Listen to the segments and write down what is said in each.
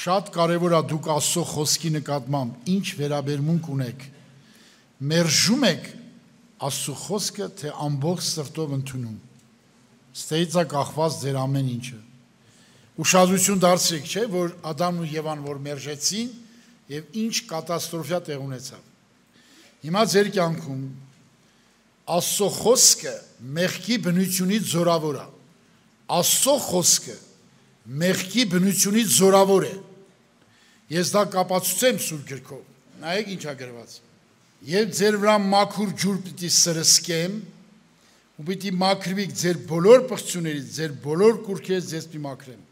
Շատ կարևոր է դուք Աստծո խոսքի նկատմամբ ինչ վերաբերմունք ունեք։ Մերժում եք Աստծո խոսքը, թե ամբողջ սրտով ընդունում։ Ստեյից է կախված ձեր ամեն ինչը։ Ուշադրություն դարձրեք, չէ, որ Ադամն ու Եվան որ մերժեցին եւ ինչ կատաստրոֆա տեղ ունեցավ։ Հիմա ձեր կյանքում Աստծո խոսքը մեղքի բնությունից զորավոր է։ Աստծո խոսքը մեղքի բնությունից զորավոր է։ Ես դա կապացուցեմ Սուրբ գրքով։ Նայեք ինչ է գրված։ Եվ ձեր վրա մաքուր ջուր պիտի սրսկեմ, ու պիտի մաքրվիք ձեր բոլոր պղծություններից, ձեր բոլոր կուռքերից ձեզ պիտի մաքրեմ։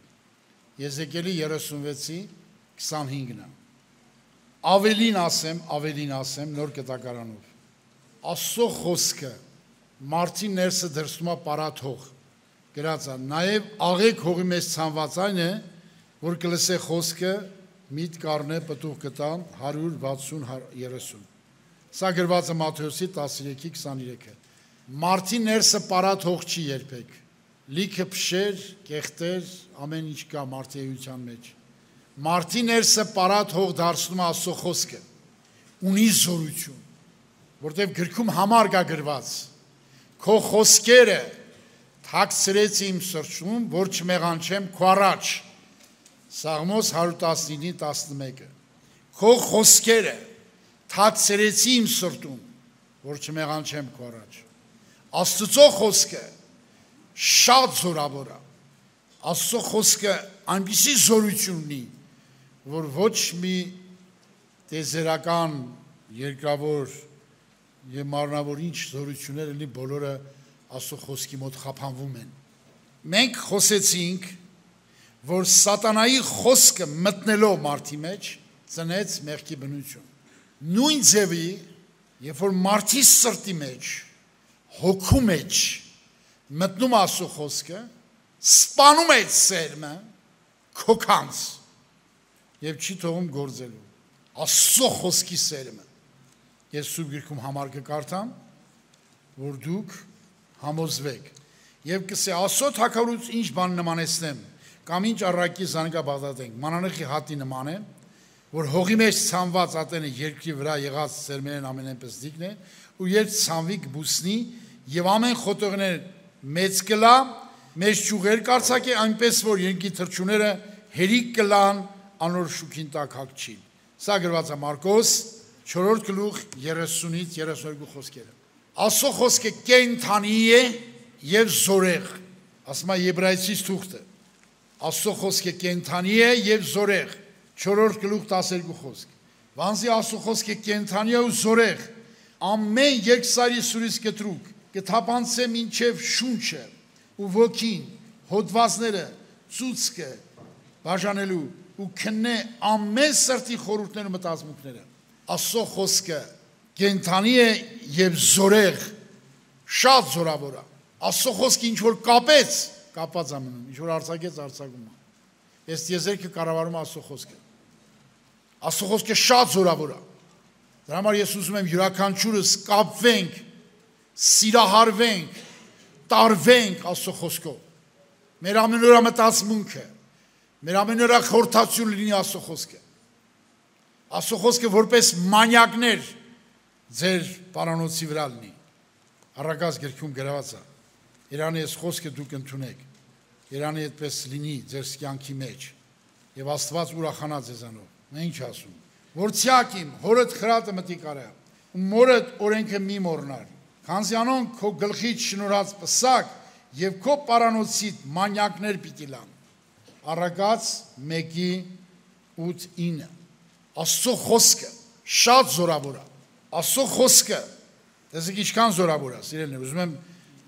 Եզեկիելի 36:25-ն է։ Ավելին ասեմ նոր կտակարանով։ Աստծո խոսքը մարդի ներսը դրսում է պարաթող։ Գրած է, նաև աղեք հողի մեջ ցանված այն է, որ կլսե խոսքը միտ կառնե պտուղ կտան 160-30։ Սա գրված է Մատթեոսի 13:23-ը։ Մարդի ներսը պարաթող չի երբեք։ Լիքը փշեր, կեղտեր, ամեն ինչ կա մարդի էության մեջ։ Մարդի ներսը պարաթող դարձնում է Աստծո խոսքը։ Ունի զորություն, որտեղ գրքում համար կա գրված. Քո խոսքերը թաքցրեցի իմ սրտում, որ չմեղանչեմ քո առաջ։ Սաղմոս 119:11։ Քո խոսքերը թաքցրեցի իմ սրտում, որ չմեղանչեմ քո առաջ։ Աստծո խոսքը շատ զորավոր է։ Աստծո խոսքը այնպիսի զորություն ունի, որ ոչ մի տեզերական, երկրավոր եւ մարմնավոր ինչ զորություններ լինի, բոլորը Աստծո խոսքի մոտ խափանվում են։ Մենք խոսեցինք, որ սատանայի խոսքը մտնելով մարդի մեջ ծնեց մեղքի բնություն։ Նույն ձևի, երբ որ մարդի սրտի մեջ, հոգու մեջ մտնում Աստծո խոսքը, սպանում է սերմը քոքանց եւ չի թողում գործելու։ Աստծո խոսքի սերմը։ Ես Սուրբ գրքում համար կկարդամ, որ դուք համոզվեք եւ կսե Աստծո թագավորություն ինչ բան նմանեցնեմ, կամ ինչ առակի զանգաբաղդատենք, մանանեխի հատի նման է, որ հողի մեջ ցանված ատենը երկրի վրա եղած սերմերն ամենայնպես դիկն է, ու երբ ցանվի կբուսնի եւ ամեն խոտողներ մեծ կլա, մեծ ճյուղեր կարձակի, այնպես որ երկի թրջուները հերիք կլան, անոր շուքին տակ հագչին։ Սա գրված է Մարկոս 4:30-32 խոսքերը։ Աստծո խոսքը կենդանի է եւ զորեղ, ասում է Եբրայեցիս թուղթը։ Աստծո խոսքը կենդանի է եւ զորեղ, 4:12 խոսք։ Վանզի Աստծո խոսքը կենդանի է ու զորեղ, ամեն երկսարի սուրից կտրուկ, կթափանցե մինչև շունչը ու ոգին, հոդվածները, ծուցկը բաժանելու ու քննե ամեն սրտի խորհուրդները մտածմունքները։ Աստծո խոսքը կենդանի է եւ զորեղ, շատ զորավոր է։ Աստծո խոսքը ինչ որ կապեց, կապած է մնում, ինչ որ արձակեց, արձակում է։ Ես եզերքը կառավարում Աստծո խոսքը։ Աստծո խոսքը շատ զորավոր է։ Դրա համար ես ուզում եմ յուրաքանչյուրս կապվենք, սիրահարվենք, տարվենք Աստծո խոսքով։ Մեր ամենօրյա մտածմունքը, մեր ամենօրյա խորհրդացիությունը լինի Աստծո խոսքը։ Աստծո խոսքը որպես մանյակներ ձեր պարանոցի վրա լինի։ Առակաց գրքում գրված է. Երանի այս խոսքը դուք ընդունեք, երանի այդպես լինի ձեր կյանքի մեջ, եւ Աստված ուրախանա ձեզանով։ Նա ինչ ասում, որ ցյակիմ հորդ խրատը մտի կարա, ու մորդ օրենքը մի մոռնար, քանզի անոնք քո գլխից շնորհած պսակ եւ քո պարանոցիդ մանյակներ պիտի լան։ Առակաց 1:8-9։ Աստծո խոսքը շատ զորավոր է։ Աստծո խոսքը, տեսեք ինչքան զորավոր է, սիրելիներ, ուզում եմ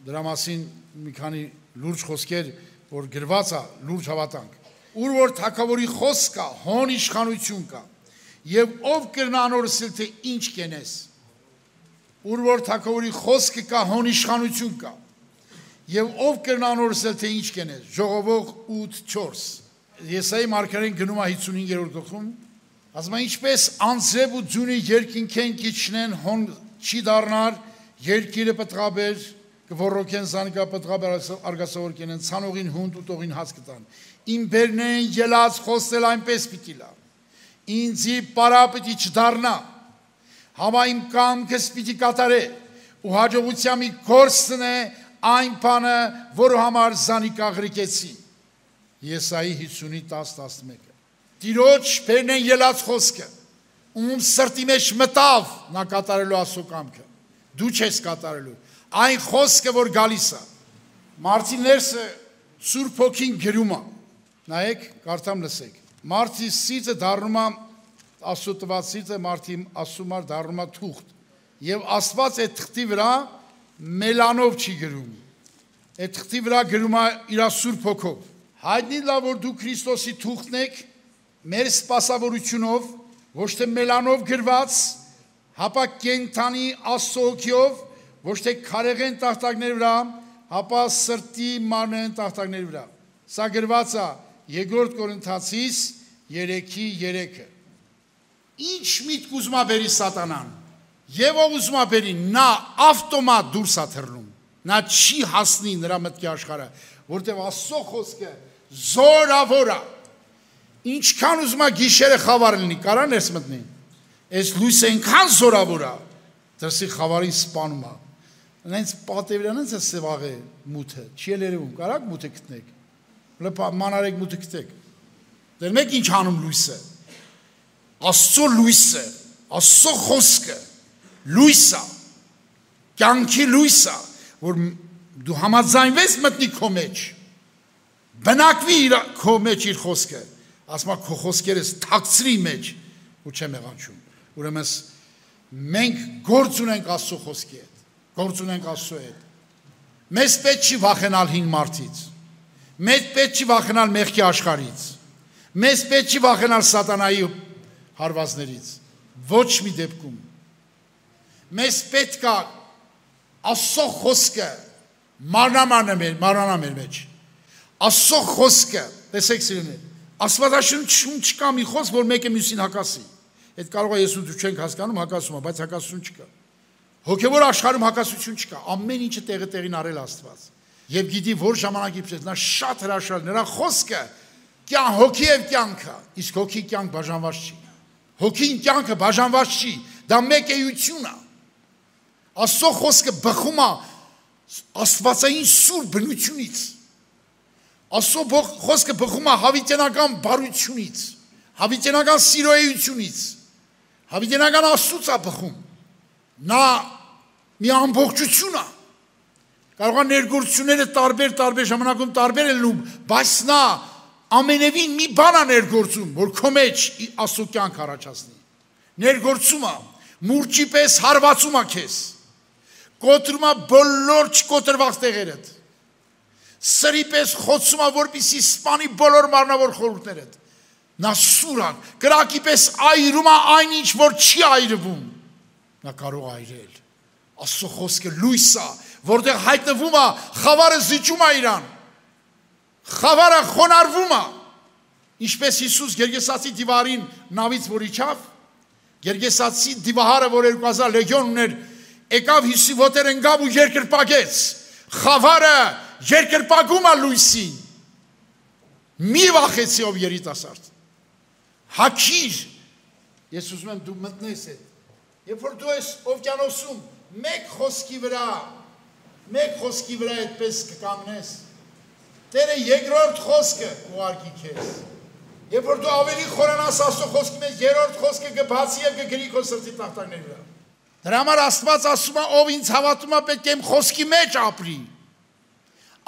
դրա մասին մի քանի լուրջ խոսքեր, որ գրված է, լուրջ հավատանք։ Ուր որ թագավորի խոսք կա, հոն իշխանություն կա, եւ ով կրնա անորսել թե ինչ կենես։ Ուր որ թագավորի խոսքը կա, հոն իշխանություն կա, եւ ով կրնա անորսել թե ինչ կենես։ Ժողովող 8:4։ Եսայի մարգարեն գնում է 55-րդ գլխում, ասում է ինչպես անձրև ու ձյունի երկինքեն կիչնեն հոն չի դառնար, երկիրը պտղաբեր կվորոքեն զանիկա պտղաբար արգասավոր կենեն, ցանողին հունդ ուտողին հաց կտան։ Իմ բերնեն ելած խոսել այնպես պիտի լա։ Ինձի պարա պիտի չդառնա։ Համա իմ կամքս պիտի կատարե, ու հաջողությամբ գործն է այն բանը, որը համար զանիկա ղրիկեցի։ Եսայի 50:10-11։ Տիրոջ բերնեն ելած խոսքը, ում սրտի մեջ մտավ նա կատարելու Աստծո կամքը։ Դու չես կատարելու։ Այն խոսքը, որ գալիս է։ Մարտի ներսը Սուրբ Հոգին գրում է։ Նայեք, կարդամ լսեք։ Մարտի սիրտը դառնում է Աստծո տված սիրտը, մարտի ասում է դառնում է թուղթ։ Եվ Աստված այդ թղթի վրա մելանով չի գրում։ Այդ թղթի վրա գրում է իր Սուրբ Հոգով։ Հայտնի լավ որ դու Քրիստոսի թուղթն եք, մեր սպասավորությունով, ոչ թե մելանով գրված, հապա կենթանի Աստծո հոգիով, ոչ թե քարեղեն տախտակների վրա, հապա սրտի մարմնային տախտակների վրա։ Սա գրված է 2 Կորինթացիս 3:3-ը։ Ինչ միտք ուզում է բերի սատանան, եւ ով ուզում է բերի, նա ավտոմատ դուրս է թռնում։ Նա չի հասնի նրա մտքի աշխարհը, որտեղ Աստծո խոսքը զորավոր է։ Ինչքան ուզում է գիշերը խավար լինի, կարա ներս մտնի։ Այս լույսը այնքան զորավոր է, դրսի խավարին սպանում է։ Նենց պատևրան է սևաղե մութը, չի երևում, կարաք մութը գտնեք։ Մանարեք մութը գտեք։ Դեռ մեկ ինչ անում լույսը։ Աստծո լույսը, Աստծո խոսքը, լույսը, կյանքի լույսը, որ դու համաձայնվես մտնի քո մեջ, բնակվի քո մեջ իր խոսքը, ասма քո խոսքերս թաքցրի մեջ ու չեմ եղանչում։ Ուրեմն մենք գործ ունենք Աստծո խոսքի հետ, գործ ունենք Աստծո հետ։ Մեզ պետք չի վախենալ հին մարդից, մեզ պետք չի վախենալ մեղքի աշխարհից, մեզ պետք չի վախենալ սատանայի հարվածներից, ոչ մի դեպքում։ Մեզ պետք է Աստծո խոսքը մարմնանա մեր մեջ։ Աստծո խոսքը, տեսեք սիրելիներ, Աստվածաշնչում չկա մի խոսք, որ մեկը մյուսին հակասի։ Այդ կարող է ես ու դու չենք հասկանում, հակասում է, բայց հակասություն չկա։ Հոգևոր աշխարհում հակասություն չկա, ամեն ինչը տեղին արել Աստված։ Եվ գիտի որ ժամանակի պես նա շատ հրաշալի, նրա խոսքը կյան հոգի եւ կյանքը, իսկ հոգի կյանք բաժանված չի։ Հոգին կյանքը բաժանված չի, դա մեկ էություն է։ Աստծո խոսքը բխում է աստվածային սուր բնությունից։ Աստծո խոսքը բխում է հավիտենական բարությունից, հավիտենական սիրոյությունից, հավիտենական Աստծուց է բխում։ Նա մի ամբողջություն է։ Կարող է ներգործությունները տարբեր ժամանակում տարբեր են լինում, բայց նա ամենևին մի բան է ներգործում, որ քո մեջ Աստծո կյանք առաջացնի։ Ներգործում է, մուրճի պես հարվածում է քեզ, կոտրում է բոլոր չկոտրված տեղերդ, սրի պես խոցում է, որպեսզի սպանի բոլոր մարմնավոր խորհուրդներդ։ Նա սուր է, կրակի պես այրում է այն ինչ, որ չի այրվում։ Նա կարող է այրել։ Աստծո խոսքը լույս է, որտեղ հայտնվում է, խավարը զիջում է իրան, խավարը խոնարհվում է, ինչպես Հիսուս Գերգեսացի դիվարին նավից որ իջավ, Գերգեսացի դիվահարը, որ 2000 լեգիոն ուներ, եկավ Հիսուսի ոտեր ընկավ ու երկրպագեց, խավարը երկրպագում է լույսին, մի վախեցի ով երիտասարդ, հագիր, ես ուզում եմ դու մտնես այդ, երբ որ դու ես օվկիանոսում, մեկ խոսքի վրա այդպես կկանգնես, Տերը երկրորդ խոսքը ուղարկի քեզ, երբ որ դու ավելի խորանաս Աստծո խոսքի մեջ, երրորդ խոսքը կբացի եւ կգրի քո սրտի տախտակների վրա։ Դրա համար Աստված ասում է, ով ինձ հավատում է, պետք է իմ խոսքի մեջ ապրի։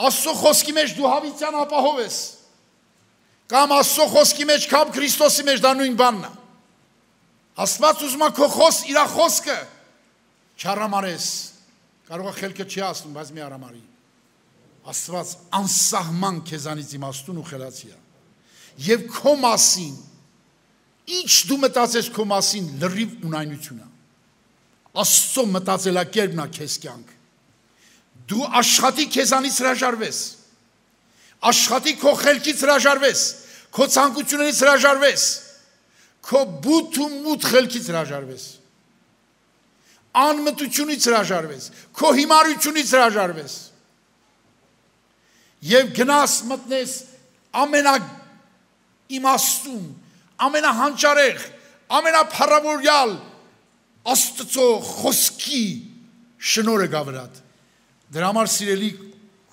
Աստծո խոսքի մեջ դու հավիտյան ապահով ես։ Կամ Աստծո խոսքի մեջ կամ Քրիստոսի մեջ, դա նույն բանն է։ Աստված ուզում է քո իր խոսքը չարամարես։ Կարող է խելքը չի ասում, բայց մի արամարի։ Աստված անսահման քեզանից իմաստուն ու խելացի է։ Եվ քո մասին, ինչ դու մտածես քո մասին, լրիվ ունայնություն է։ Աստծո մտածելակերպն է քեզ կյանք։ Դու աշխատի քեզանից հրաժարվես, աշխատի քո խելքից հրաժարվես, քո ցանկություններից հրաժարվես, քո բութ ու մութ խելքից հրաժարվես։ անմտությունից հրաժարվես, քո հիմարությունից հրաժարվես եւ գնաս մտնես ամենաիմաստուն, ամենահանճարեղ, ամենափառավորյալ Աստծո խոսքի շնորհը գա վրադ։ Դրա համար սիրելի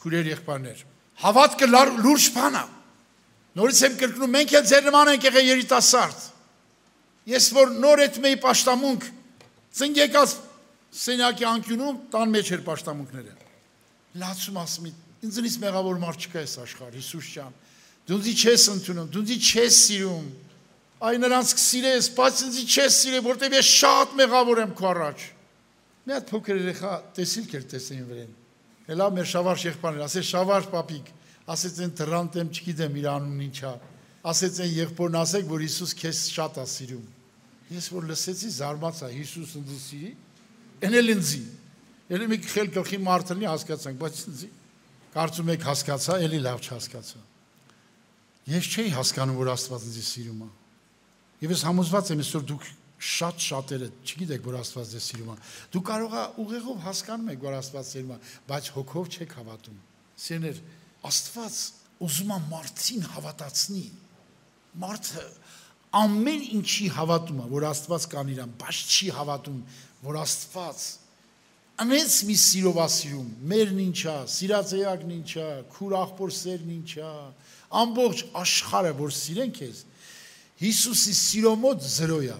քուրեր եղբայրներ, հավատքը լուրջ բան է։ Նորից եմ կրկնում, մենք էլ ձեր նման ենք եղել երիտասարդ։ Ես որ նոր այդ մեի պաշտամունք ծնգեկած սենյակի անկյունում տան մեջ էր պաշտամունքները։ Լացում ասում եմ, ինձնից մեղավոր մարդ չկա այս աշխարհ, Հիսուս ջան։ Դու ինձ չես ընդունում, դու ինձ չես սիրում։ Այ նրանց կսիրես, բայց ինձ չես սիրել, որտեղ ես շատ մեղավոր եմ քո առաջ։ Մի հատ փոքր երեխա տեսիլ կեր տեսեին վրեն։ Հելա մեր Շավարժ եղբայրներ, ասեց Շավարժ պապիկ, ասեց են դրանտ եմ չգիտեմ իր անունն ինչ է։ Ասեց են եղբորն ասեք, որ Հիսուս քեզ շատ է սիրում։ Ես որ լսեցի զարմացա, Հիսուս ինձ սիրի, են էլ ինձի։ Էլի մի խել գլխի մարդը լինի հասկացանք, բայց ինձի կարծում եք հասկացա, էլի լավ չհասկացա։ Ես չէի հասկանում, որ Աստված ինձ սիրում է։ Եվ ես համոզված եմ, այսօր դուք շատերը չգիտեք, որ Աստված ձեզ սիրում է։ Դու կարող ես ուղեղով հասկանում եք, որ Աստված սիրում է, բայց հոգով չեք հավատում։ Սիրներ, Աստված ուզում է մարդին հավատացնի։ Մարդը ամեն ինչի հավատում է, որ Աստված կան իրան, բայց չի հավատում, որ Աստված անենց մի սիրով է սիրում, մերն ինչա, սիրածեակն ինչա, քուր աղբոր սերն ինչա, ամբողջ աշխարհը, որ սիրեն քեզ, Հիսուսի սիրո մոտ զրո է,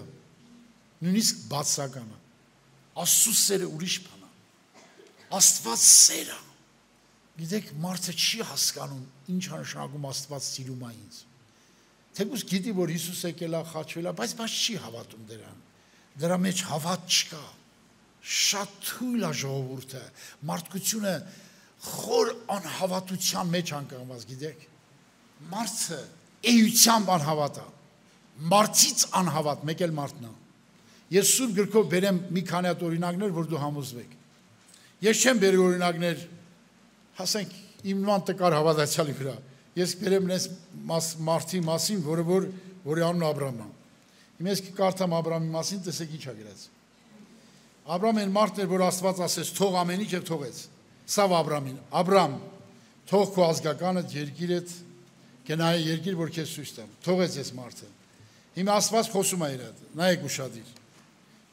նույնիսկ բացական է, Աստծո սերը ուրիշ բան է, Աստված սեր է, գիտեք, մարդը չի հասկանում, ինչ նշանակում Աստված սիրում է ինձ, թեկուզ գիտի, որ Հիսուս եկել է, խաչվել է, բայց չի հավատում դրան, դրա մեջ հավատ չկա, շատ թույլ է ժողովուրդը, մարդկությունը խոր անհավատության մեջ անկանգնված, գիտեք, մարդը էությամբ անհավատ է, մարդից անհավատ, մեկ էլ մարդն է։ Ես սուրբ գրքով բերեմ մի քանի հատ օրինակներ, որ դու համոզվեք։ Ես չեմ բերի օրինակներ, հասենք իմ նման տկար հավատացյալի վրա։ Ես բերեմ նես մարդի մասին, որի անունը Աբրահամ է։ Հիմա ես կկարդամ Աբրահամի մասին, տեսեք ինչ է գրած։ Աբրահամն այն մարդն էր, որ Աստված ասեց, թող ամեն ինչ եւ թողեց։ Սա Աբրահամին, Աբրահամ, թող քո ազգականդ, երկիրդ, գնայ երկիր, որ քեզ ցույց տամ։ Թողեց ես մարդը։ Հիմա Աստված խոսում է իր հետ։ Նայեք ուշադիր։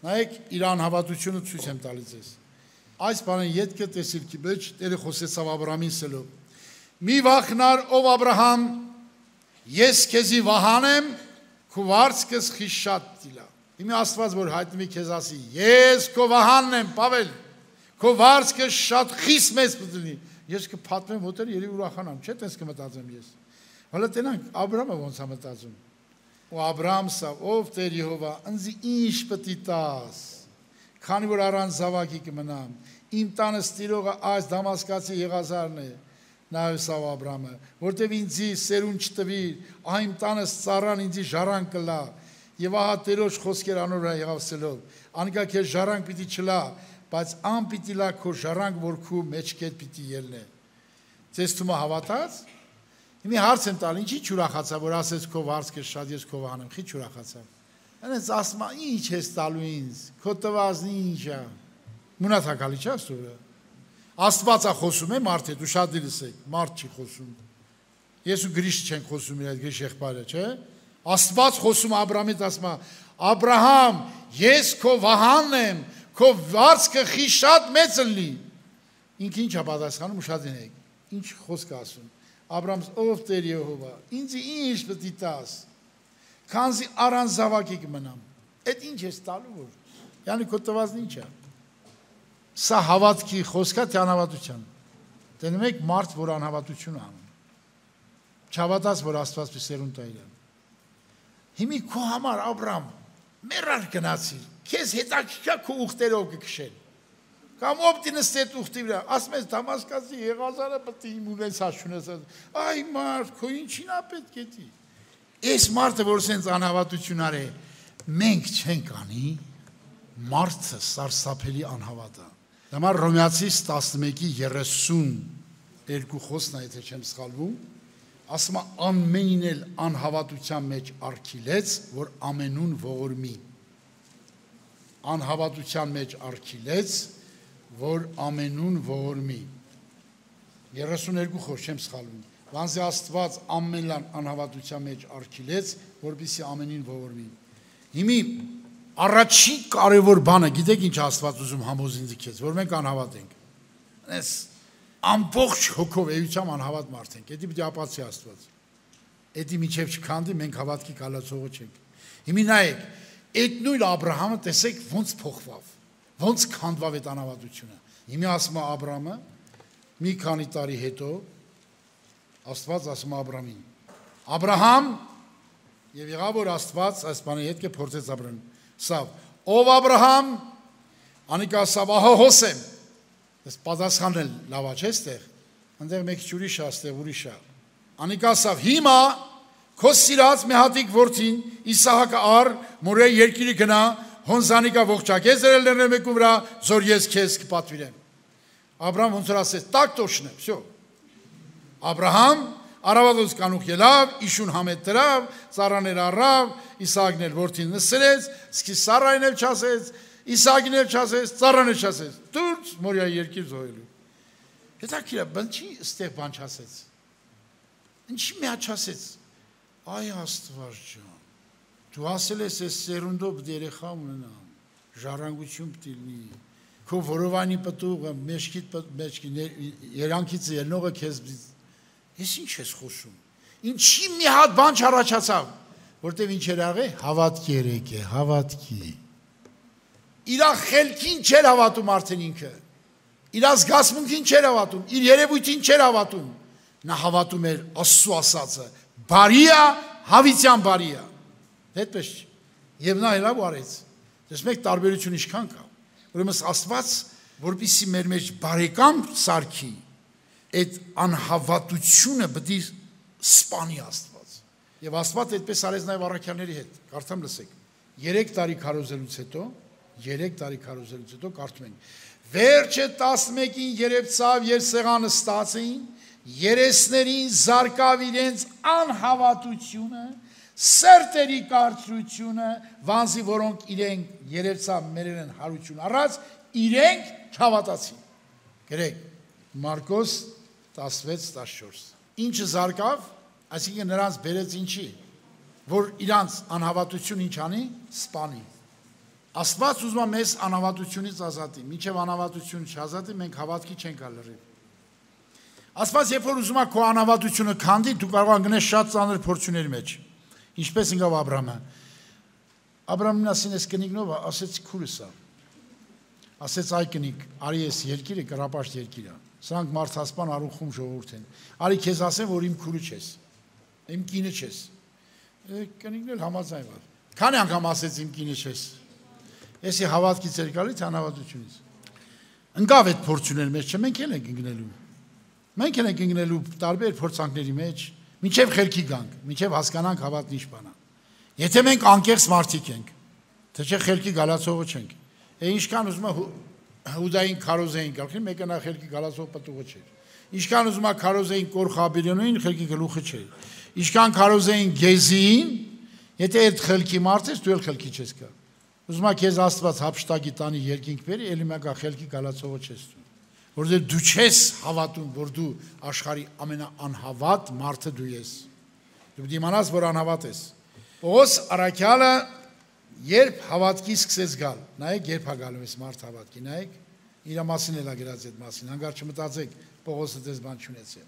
Նայեք իր անհավատությունը ցույց եմ տալիս ես։ Այս բանը յետքը տեսիլքի մեջ Տերը խոսեցավ Աբրահամին սելով։ Մի վախնար ով Աբրահամ, ես քեզի վահանեմ, քո վարձքս խիշատ դիլա։ Հիմա Աստված որ հայտնվի քեզ ասի, ես քո վահանն եմ, Պավել, քո վարձքը շատ խիստ մեծ կլինի։ Ես կփաթվեմ ոտեր ելի ուրախանամ, չէ՞ տես կմտածեմ ես։ Հələ տենանք Աբրահամը ոնց է մտածում։ Ու Աբրահամ սա, ով Տեր Եհովա, ինձ ինչ պետք է տաս։ Քանի որ առանց զավակի կմնամ, իմ տանը ստիրողը այս Դամասկացի Եղազարն է։ Նայես Աբրահամը, որտեվ ինձի սերուն չտվիր, ահա իմ տանս ծառան ինձի ժառանգ կլա։ Եվ ահա Տերոջ խոսքեր անոր վրա եղավսելով, անկա քեզ ժառանգ պիտի չլա, բայց ան պիտի լա քո ժառանգ, որ քու մեջքեդ պիտի ելնե։ Ձեզ թվում է հավատաց։ Հիմա հարց եմ տալ, ինչի ուրախացա, որ ասես քո վարձքը շատ ես քո վահանեմ, խի ուրախացա։ Այնպես ասում է, ինչ ես տալու ինձ, քո տվածն ինչ է։ Մունաթակալի չէ՞ սուրը։ Աստված է խոսում է մարդ հետ, ու շատ լսեք, մարդ չի խոսում։ Ես ու Գրիշ չենք խոսում իր այդ Գրիշ եղբայրը, չէ՞։ Աստված խոսում Աբրահամից ասում է. Աբրահամ, ես քո վահանն եմ, քո վարձքը խի շատ մեծ լինի։ Ինքը ինչ է պատասխանում, շատ դինեք։ Ինչ խոսք ասում։ Աբրահամ, ով Տեր Եհովա, ինձ ինչ պետք է տաս։ Քանզի առանց զավակի կմնամ։ Այդ ինչ ես տալու որ։ Յանի քո տվածն ինչ է։ Սա հավատքի խոսքա թե անհավատության։ Տենում եք մարդ, որ անհավատություն անում։ Չհավատաց, որ Աստված պիտի սերունդ տա իրան։ Հիմի քո համար Աբրահամ մեռար գնացիր, քեզ հետաքրքիր քո ուխտերով կքշեն։ Կամ ով դինստե ուխտի վրա, ասում ես Դամասկացի Եղազարը պետք է իմ ունես հաշունես։ Այ մարդ, քո ինչին է պետք է դի։ Այս մարդը, որ սենց անհավատություն արե, մենք չենք անի, մարդը սարսափելի անհավատ է։ Դեմար Հռոմեացիս 11:32 խոսքն է, եթե չեմ սխալվում, ասում է ամենին էլ անհավատության մեջ արգիլեց, որ ամենուն ողորմի։ անհավատության մեջ արգիլեց, որ ամենուն ողորմի։ 32 խոր չեմ սխալվում։ Վանզի Աստված ամենլան անհավատության մեջ արգիլեց, որպեսզի ամենին ողորմի։ Հիմի առաջի կարևոր բանը, գիտեք ինչ Աստված ուզում համոզին ձգեց, որ մենք անհավատ ենք։ Այս ամբողջ հոգով էությամբ անհավատ մարդ ենք։ Դա պիտի ապացի Աստված։ Դա միջև չքանդի մենք հավատքի կալացողը չենք։ Հիմի նայեք, այդ նույն Աբրահամը տեսեք ոնց փոխվավ, ոնց քանդվավ այդ անհավատությունը։ Հիմի ասում է Աբրահամը մի քանի տարի հետո Աստված ասում է Աբրահամին. Աբրահամ, եւ եղավ որ Աստված այս բանի հետ կփորձեց Աբրահամին։ Սավ, ով Աբրահամ, անիկա սավ ահա հոսեմ։ Այս պատասխանել լավ է, չէ՞ ստեղ։ Այնտեղ մեկ ուրիշ է, ստեղ ուրիշ է։ Անիկա սավ հիմա քո սիրած մի հատիկ որդին Իսահակը առ մորե երկիրը գնա, հոնզանիկա ողջակեց դրել ներնե մեկու վրա, զոր ես քեզ կպատվիրեմ։ Աբրահամ ոնց որ ասեց, տակ տոշնե, всё։ Աբրահամ արավատոց կանուխ ելավ, իշուն համետ դրավ, ծառաներ առավ, Իսահակն էլ որդին նսրեց, սկի Սարային էլ չասեց, Իսահակին էլ չասեց, ծառան էլ չասեց, դուրս մորիա երկիր զոհելու։ Հետաքրքիր է, բնչի ստեղ բան չասեց։ Ինչի մի չասեց։ Այ Աստված ջան, դու ասել ես այս սերունդով երեխա ունենամ, ժառանգություն պիտի լինի, քո որովանի պտուղը, մեջքի երանքից ելնողը քեզ Ես ինչ ես խոսում։ Ինչի մի հատ բան չառաջացավ, որտեվ ինչ էր աղե, հավատքի երեք է, հավատքի։ Իր խելքին չէր հավատում արդեն ինքը։ Իր զգացմունքին չէր հավատում, իր երևույթին չէր հավատում։ Նա հավատում էր Աստծո ասածը, բարի է, հավիտյան բարի է։ Այդպես չէ։ Եվ նա հելավ արեց։ Դες մեկ տարբերություն ինչքան կա։ Ուրեմն Աստված, որպեսզի մեր մեջ բարեկամ սարքի, այդ անհավատությունը պետք է սպանի Աստված։ Եվ Աստված այդպես արեց նաև առաքյալների հետ։ Կարդամ լսեք։ 3 տարի քարոզելուց հետո կարդում ենք. Վերջը 11-ին երևցավ եւ սեղանը ստացին, երեսներին զարկավ իրենց անհավատությունը, սերտերի կարծրությունը, վանզի որոնք իրենք երևցավ մերեն հարություն առած, իրենք չհավատացին։ Գրեք Մարկոս 16-14 Ինչը զարկավ, այսինքն նրանց բերեց ինչի, որ իրանց անհավատություն ինչ անի, սպանի։ Աստված ուզում է մեզ անհավատությունից ազատի, մինչև անհավատություն չազատի, մենք հավատքի չենք ալրիվ։ Աստված երբ որ ուզում է քո անհավատությունը քանդի, դու կարող ես գնես շատ ծանր փորձությունների մեջ։ Ինչպես եկավ Աբրահամը։ Աբրահամն ասին էս կնիկնով, ասեց քուրս է։ Ասեց այ կնիկ, արի էս երկիրը կրապաշտ երկիր է։ Սրանք մարդասպան արուխում ժողովուրդ են։ Արի քեզ ասեմ, որ իմ քուրը չես, իմ կինը չես։ Կնիկն էլ համաձայնվավ։ Քանի անգամ ասեց իմ կինը չես։ Էսի հավատքից էր գալի, թե անհավատությունից։ Ընկավ այդ փորձությունների մեջ, չէ՞ մենք էլ ենք ընկնելու։ Մենք էլ ենք ընկնելու տարբեր փորձանքների մեջ, մինչև խելքի գանք, մինչև հասկանանք հավատն ինչ բան է։ Եթե մենք անկեղծ մարդիկ ենք, թե չէ խելքի գալացողը չենք։ Ինչքան ուզում է Հուդային քարոզեին գալքին, մեկը նա խելքի գալացող պտուղը չէր։ Ինչքան ուզում է քարոզեին Կորխաբիրյոնին, խելքի գլուխը չէր։ Ինչքան քարոզեին Գեզիին, եթե այդ խելքի մարդ ես, դու էլ խելքի չես գա։ Ուզում է քեզ Աստված հափշտակի տանի երկինք բերի, էլի մեկը խելքի գալացողը չես դու։ Որովհետև դու չես հավատում, որ դու աշխարհի ամենաանհավատ մարդը դու ես։ Դու պետք է իմանաս, որ անհավատ ես։ Պողոս առաքյալը երբ հավատքի սկսեց գալ, նայեք երբ է գալու այս մարդ հավատքի, նայեք իր մասին էլ ագրած այդ մասին, հանգար չմտածեք Պողոսը դες բան չունեցել,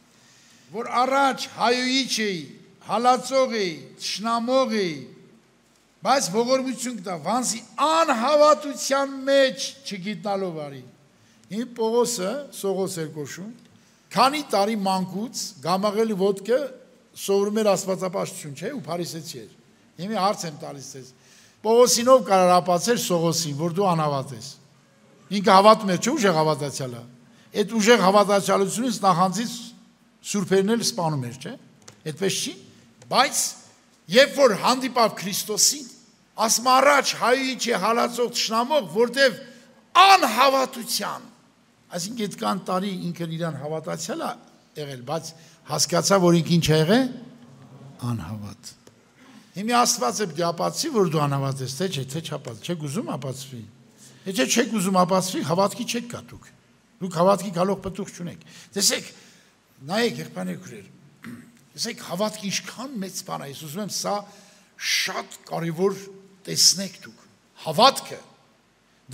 որ առաջ հայուիչ էի, հալածող էի, թշնամող էի, բայց ողորմություն կտա, վանսի անհավատության մեջ չգիտնալով արի։ Իմ Պողոսը Սողոս էր կոչում, քանի տարի մանկուց գամաղելի ոտքը սովորում էր աստվածապաշտություն, չէ՞, ու փարիսեցի էր։ Հիմա հարց եմ տալիս ձեզ։ Պողոսինով կարող ապացել Սողոսին, որ դու անհավատ ես։ Ինքը հավատում էր, չէ՞ ուժեղ հավատացյալ է։ Այդ ուժեղ հավատացյալությունից նախանձից սուրբերն էլ սպանում էր, չէ՞։ Այդպես չի։ Բայց երբ որ հանդիպավ Քրիստոսին, ասում առաջ հայուիչ է հալածող թշնամող, որտև անհավատության, այսինքն այդքան տարի ինքն իրան հավատացյալ է եղել, բայց հասկացա, որ ինքը ինչ է եղել, անհավատ։ Հիմա Աստված է պետք է ապացուցի, որ դու անհավատ ես, թե չէ, թե չապացուցի, չէ՞ ուզում ապացուցի։ Եթե չեք ուզում ապացվի, հավատքի չեք գա դուք։ Դուք հավատքի գալով պտուղ չունեք։ Տեսեք, նայեք եղբայրներ քույրեր։ Տեսեք, հավատքը ինչքան մեծ բան է, ես ուզում եմ սա շատ կարևոր տեսնեք դուք։ Հավատքը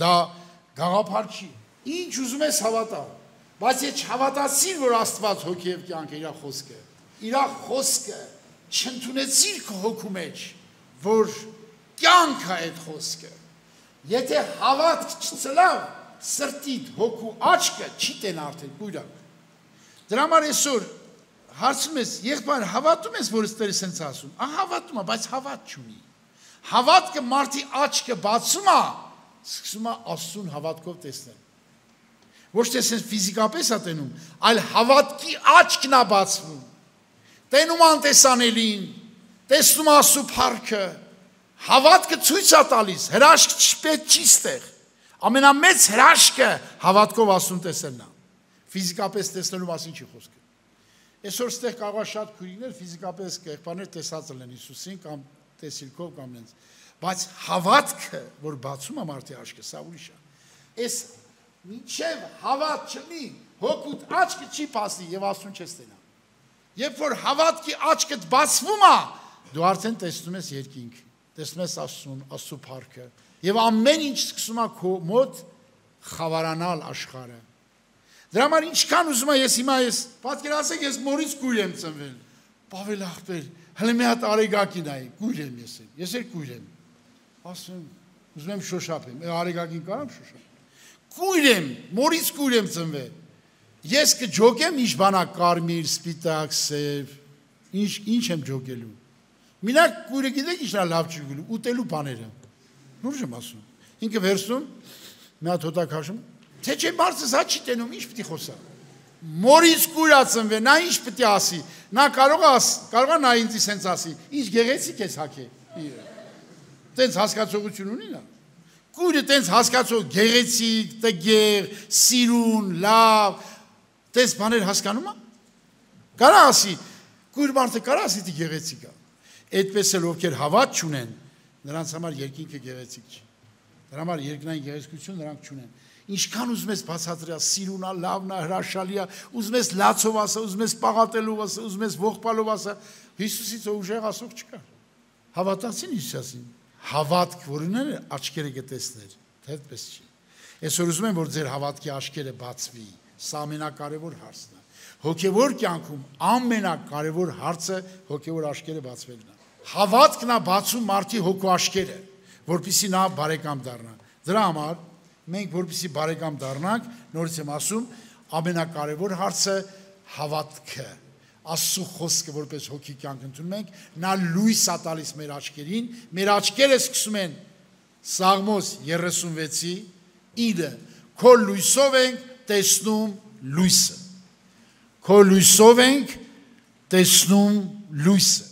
դա գաղափար չի։ Ինչ ուզում ես հավատալ, բայց եթե չհավատացիր, որ Աստված հոգի եւ կյանք է, իր խոսքը չընդունեցիր քո հոգու մեջ, որ կյանք է այդ խոսքը։ Եթե հավատք չծլավ, սրտիդ հոգու աչքը չի տեն արդեն գույրակ։ Դրա համար այսօր հարցում ես, եղբայր, հավատում ես, որ Աստված սենց ասում։ Հավատում է, բայց հավատ չունի։ Հավատքը մարդի աչքը բացում է, սկսում է Աստծուն հավատքով տեսնել։ Ոչ թե սենց ֆիզիկապես է տենում, այլ հավատքի աչքն է բացվում։ Տենում անտեսանելին, տեսնում Աստծո փառքը, հավատքը ցույց է տալիս, հրաշք չպետք չի ստեղ։ Ամենամեծ հրաշքը հավատքով Աստծուն տեսնելն է։ Ֆիզիկապես տեսնելու մասին չի խոսքը։ Այսօր ստեղ կարող է շատ քույրիկներ ֆիզիկապես եղբայրներ տեսած լինեն Հիսուսին կամ տեսիլքով կամ նենց, բայց հավատքը, որ բացում է մարդի աչքը, սա ուրիշ է։ Այս մինչև հավատ չլինի, հոգուդ աչքը չի բացի եւ Աստծուն չես տեսնա։ Երբ որ հավատքի աչքդ բացվում է, դու արդեն տեսնում ես երկինք, տեսնում ես Աստծուն, Աստծո փառքը, եւ ամեն ինչ սկսում է քո մոտ խավարանալ աշխարհը։ Դրա համար ինչքան ուզում եմ ես հիմա պատկերացեք ես մորից կույր եմ ծնվել։ Պավել ախպեր, հələ մի հատ արեգակին այ, կույր եմ ես էլ կույր եմ։ Ասում ուզում եմ շոշափեմ, արեգակին կարամ շոշափ։ Կույր եմ, մորից կույր եմ ծնվել։ Ես կջոկեմ ինչ բանա կարմիր, սպիտակ, սև, ինչ եմ ջոկելու։ Մինակ կույրը գիտեք ինչն է լավ չի գլու, ուտելու բաները։ Լուրջ եմ ասում։ Ինքը վերցնում, մի հատ հոտակ հաշում, թե չէ մարդը սա չի տենում, ինչ պիտի խոսա։ Մորից կույր է ծնվել, նա ինչ պիտի ասի։ Նա կարող է նա ինձ սենց ասի, ինչ գեղեցիկ ես հագե։ Տենց հասկացողություն ունի նա։ Կույրը տենց հասկացող գեղեցիկ, տգեղ, սիրուն, լավ, տես բաներ հասկանում է։ Կարա ասի, կույր մարդը կարա ասի դի գեղեցիկ է։ Այդպես էլ ովքեր հավատ չունեն, նրանց համար երկինքը գեղեցիկ չի։ Դրա համար երկնային գեղեցկություն նրանք չունեն։ Ինչքան ուզում ես բացատրել, սիրուն է, լավն է, հրաշալի է, ուզում ես լացով ասա, ուզում ես պաղատելով ասա, ուզում ես ողբալով ասա, Հիսուսից ուժեղ ասող չկա։ Հավատացին Հիսուսին։ Հավատք, որ ունեն աչքերը կտեսներ, թե այդպես չի։ Այսօր ուզում եմ, որ ձեր հավատքի աչքերը բացվի, սա ամենակարևոր հարցն է։ Հոգևոր կյանքում ամենակարևոր հարցը հոգևոր աչքերը բացվելն է։ Հավատքն է բացում մարդի հոգու աչքերը, որպեսզի նա բարեկամ դառնա։ Դրա համար մենք որպեսզի բարեկամ դառնանք, նորից եմ ասում, ամենակարևոր հարցը հավատքը։ Աստծո խոսքը որպես հոգի կյանք ընդունում ենք, նա լույս է տալիս մեր աչքերին, մեր աչքերը սկսում են Սաղմոս 36-ի 9. Քո լույսով ենք տեսնում լույսը։ Քո լույսով ենք տեսնում լույսը։